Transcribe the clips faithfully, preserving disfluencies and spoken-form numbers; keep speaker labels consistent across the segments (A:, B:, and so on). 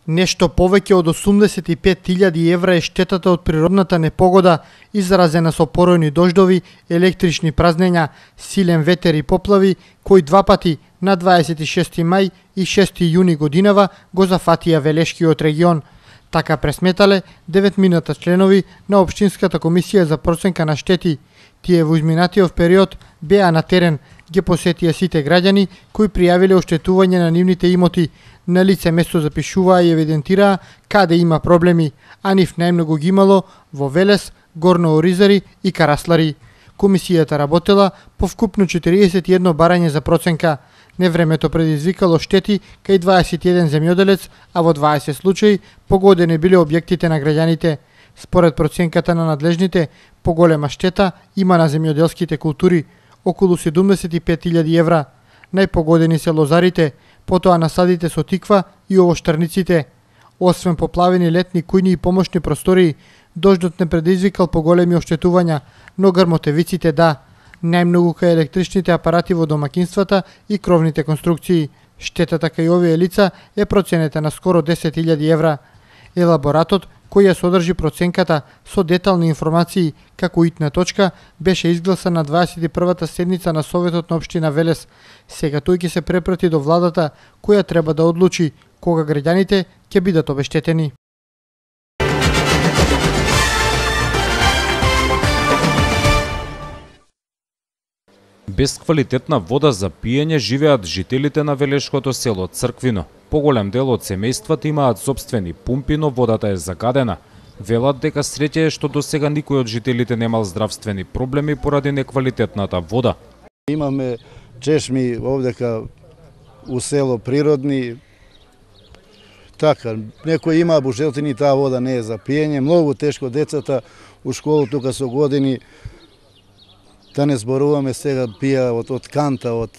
A: Нешто повеќе од осумдесет и пет илјади евра е штетата од природната непогода изразена со поројни дождови, електрични празнења, силен ветер и поплави, кои два пати на дваесет и шести мај и шести јуни годинава го зафатија Велешкиот регион. Така пресметале деветмината членови на Општинската комисија за проценка на штети. Тие во изминатиот период беа на терен, ги посетија сите граѓани кои пријавиле оштетување на нивните имоти. На лице место запишуваа и евидентираа каде има проблеми, а нив најмногу ги имало во Велес, Горно Оризари и Караслари. Комисијата работела по вкупно четириесет и едно барање за проценка. Невремето предизвикало штети кај дваесет и еден земјоделец, а во дваесет случаи погодени биле објектите на граѓаните. Според проценката на надлежните, поголема штета има на земјоделските култури, околу седумдесет и пет илјади евра. Најпогодени се лозарите, потоа насадите со тиква и овоштарниците. Освен поплавени летни кујни и помошни простории, дождот не предизвикал поголеми оштетувања, но грмотевиците да. Најмногу кај електричните апарати во домакинствата и кровните конструкции. Штетата кај овие лица е проценета на скоро десет илјади евра. Елаборатот, кој ја содржи проценката со детални информации како итна точка, беше изгласан на дваесет и првата седница на Советот на Општина Велес. Сега тој ќе се препрати до владата, која треба да одлучи кога граѓаните ќе бидат обештетени.
B: Без квалитетна вода за пиење живеат жителите на велешкото село Црквино. Поголем дел од семејствата имаат сопствени пумпи, но водата е загадена. Велат дека среќа е што досега никој од жителите немал здравствени проблеми поради неквалитетната вода.
C: Имаме чешми овдека у село природни. Така, некој има бужелтини, таа вода не е за пиење. Многу тешко децата у школу тука со години. Да не зборуваме сега пија од, од канта од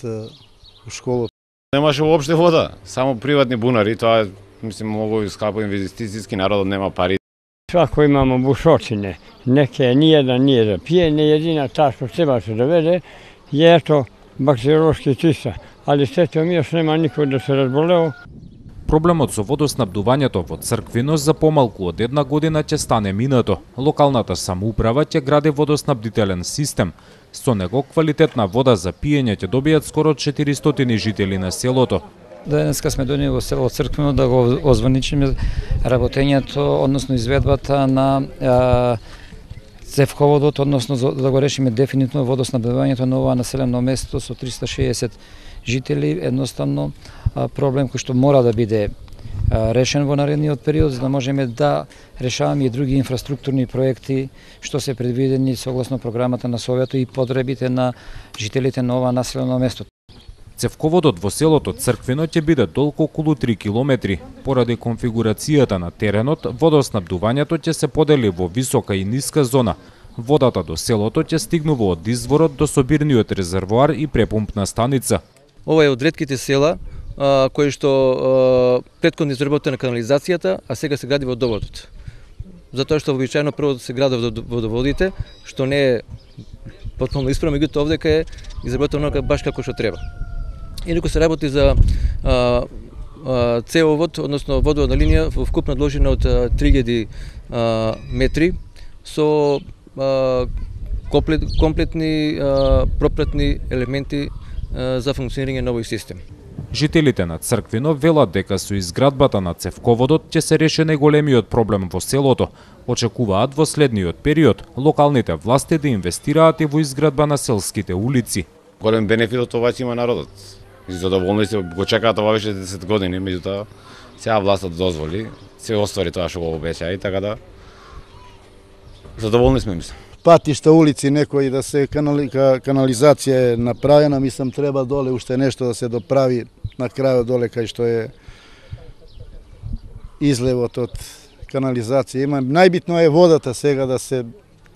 C: школа.
D: Немаше воопште вода, само приватни бунари, тоа мислим многу скапо инвестицијски, народот нема пари.
E: Свако имамо бушочине, неке ниједан не е за пиење, едина таа што треба се доведе е ето бактериолошки чиста, али сето ми још нема никој да се разболео.
B: Проблемот со водоснабдувањето во Црквино за помалку од една година ќе стане минато. Локалната самоуправа ќе гради водоснабдителен систем. Со него квалитетна вода за пиење ќе добијат скоро четиристотини жители на селото.
F: Денеска сме дојдени во село Црквино да го озваничиме работењето, односно изведбата на а, цевководот, односно да го решиме дефинитивно водоснабдувањето на ова населено место со триста шеесет жители. Едноставно проблем кој што мора да биде решен во наредниот период, за да можеме да решаваме и други инфраструктурни проекти што се предвидени согласно програмата на Советот и потребите на жителите на ова населено место.
B: Цевководот во селото Црквино ќе биде долг околу три километри. Поради конфигурацијата на теренот, водоснабдувањето ќе се подели во висока и ниска зона. Водата до селото ќе стигнува од изворот до собирниот резервоар и препумпна станица.
G: Ова е од ретките села кои што претходно изработена канализацијата, а сега се гради водоводот. Затоа што вообичаено прво се градат водоводите, што не е потполно исправно, меѓутоа овдека е изработено баш како што треба. Инаку се работи за а, а, цевовод, односно водоводна линија во вкупна должина од три илјади метри со а, комплет, комплетни а, пропратни елементи а, за функционирање на овој систем.
B: Жителите на Црквино велат дека со изградбата на цевководот ќе се реши најголемиот проблем во селото. Очекуваат во следниот период локалните власти да инвестираат и во изградба на селските улици.
D: Голем бенефит од ова ќе има народот. И задоволни се, го чекаат ова веќе десет години, меѓутоа сега властот дозволи, се оствари тоа што го обеќа и така да задоволни сме, мислам.
C: Патишта, улици, некои да се канали, канализација е направена, мислам треба доле уште нешто да се доправи на крајот доле кај што е излевот од канализација. Има најбитно е водата сега да се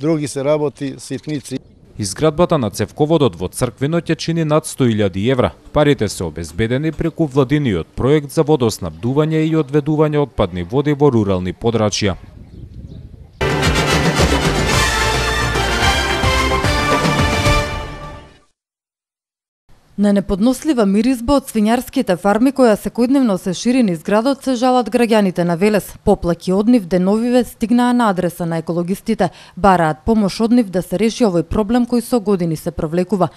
C: други се работи ситници.
B: Изградбата на цевководот во Црквино ќе чини над сто илјади евра. Парите се обезбедени преку владиниот проект за водоснабдување и одведување отпадни води во рурални подрачја.
H: На неподнослива миризба од свињарските фарми која секојдневно се шири низ градот се жалат граѓаните на Велес. Поплаки од нив деновиве стигнаа на адреса на екологистите, бараат помош од нив да се реши овој проблем кој со години се провлекува.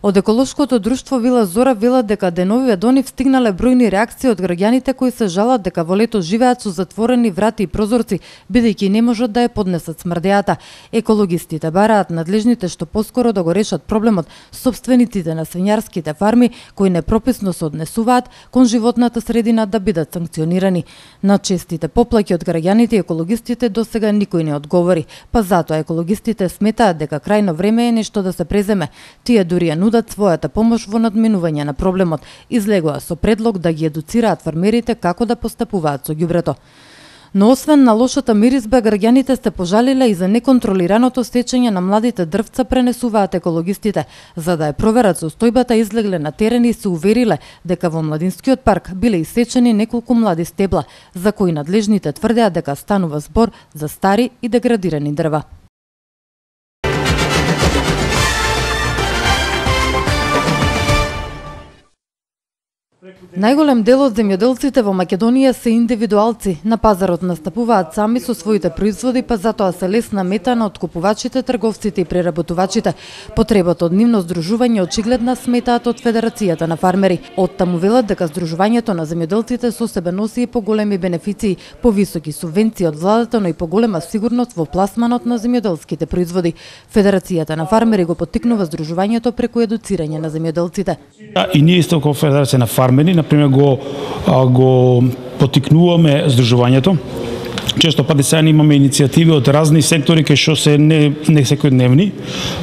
H: Од еколошкото друштво Вила Зора велат дека деновиве до нив стигнале бројни реакции од граѓаните кои се жалат дека во лето живеат со затворени врати и прозорци, бидејќи не можат да ја поднесат смрдејата. Екологистите бараат надлежните што поскоро да го решат проблемот сопствениците на свињарските фарми кои непрописно се однесуваат кон животната средина да бидат санкционирани. На честите поплаки од граѓаните и екологистите досега никој не одговори, па затоа екологистите сметаат дека крајно време е нешто да се преземе. Тие дури ја нудат својата помош во надминување на проблемот. Излегоа со предлог да ги едуцираат фармерите како да постапуваат со ѓубрето. Но освен на лошата миризба, граѓаните се пожалиле и за неконтролираното сечење на младите дрвца, пренесуваат екологистите. За да ја проверат состојбата, излегле на терен и се увериле дека во младинскиот парк биле исечени неколку млади стебла, за кои надлежните тврдеа дека станува збор за стари и деградирани дрва. Најголем дел од земјоделците во Македонија се индивидуалци. На пазарот настапуваат сами со своите производи, па затоа се лесна мета на откупувачите, трговците и преработувачите. Потребата од нивно здружување очигледна, сметаат од Федерацијата на фармери. Оттаму велат дека здружувањето на земјоделците со себе носи и поголеми бенефиции, повисоки субвенции од владата, но и поголема сигурност во пласманот на земјоделските производи. Федерацијата на фармери го поттикнува здружувањето преку едуцирање на земјоделците.
I: И ние исто како Федерација на фармери, например, го, го поттикнуваме здружувањето. Често пати сега имаме иницијативи од разни сектори кои што се не, не секојдневни.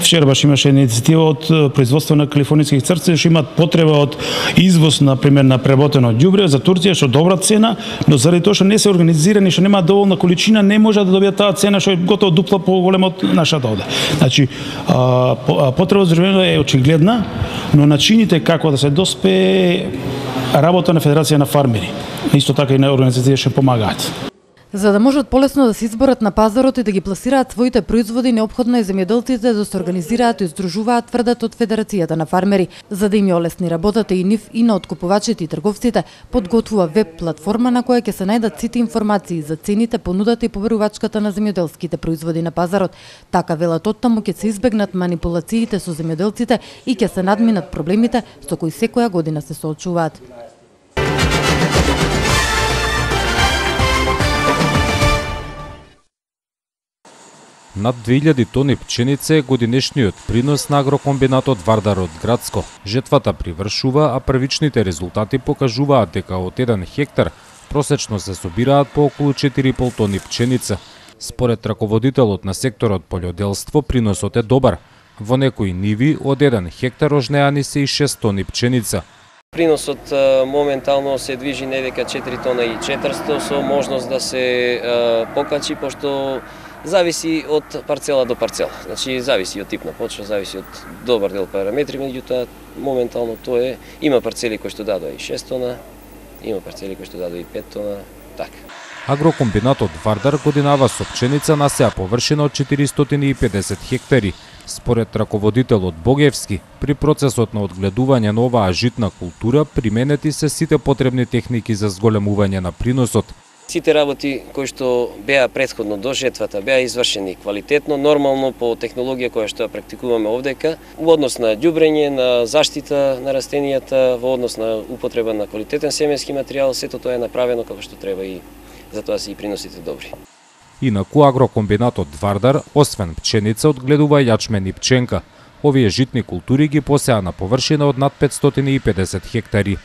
I: Вчера баш имаше иницијатива од производство на калифорнијски црци што имаат потреба од извоз, например, на преработено ѓубре за Турција што добра цена, но заради тоа што не се организирани, што нема доволна количина, не може да добијат таа цена што е готово дупло поголема од нашата овде. Значи, потреба за здружување е очигледна, но начините како да се доспее работа на Федерација на фармери, исто така и на организации што помагаат.
H: За да можат полесно да се изборат на пазарот и да ги пласираат своите производи, неопходно е земјоделците да се организираат и здружуваат, тврдат од Федерацијата на фармери. За да им ја олесни работата и нив и на откупувачите и трговците, подготвува веб платформа на која ќе се најдат сите информации за цените, понудата и побарувачката на земјоделските производи на пазарот. Така велат оттаму ќе се избегнат манипулациите со земјоделците и ќе се надминат проблемите со кои секоја година се соочуваат.
B: Над две илјади тони пченица е годинешниот принос на агрокомбинатот Вардар од Градско. Жетвата привршува, а првичните резултати покажуваат дека од еден хектар просечно се собираат по околу четири и пол тони пченица. Според раководителот на секторот полјоделство, приносот е добар. Во некои ниви од еден хектар ожнеани се и шест тони пченица.
J: Приносот моментално се движи недека четири тона и четиристо со можност да се покачи, пошто зависи од парцела до парцела. Значи зависи од тип на почва, зависи од добар дел параметри, меѓутоа моментално тоа е, има парцели кои што дадоа и шест тона, има парцели кои што дадоа и пет тона, така.
B: Агрокомбинатот Вардар годинава со пченица на сеа површина од четиристотини и педесет хектари. Според раководителот Богевски, при процесот на одгледување на оваа житна култура применети се сите потребни техники за зголемување на приносот.
J: Сите работи кои што беа претходно до жетвата беа извршени квалитетно, нормално по технологија која што ја практикуваме овдека, во однос на ѓубрење, на заштита на растенијата, во однос на употреба на квалитетен семенски материјал, сето тоа е направено како што треба и затоа се и приносите добри.
B: Инаку агрокомбинатот Вардар, освен пченица, одгледува јачмен и пченка. Овие житни култури ги посеа на површина од над петстотини и педесет хектари.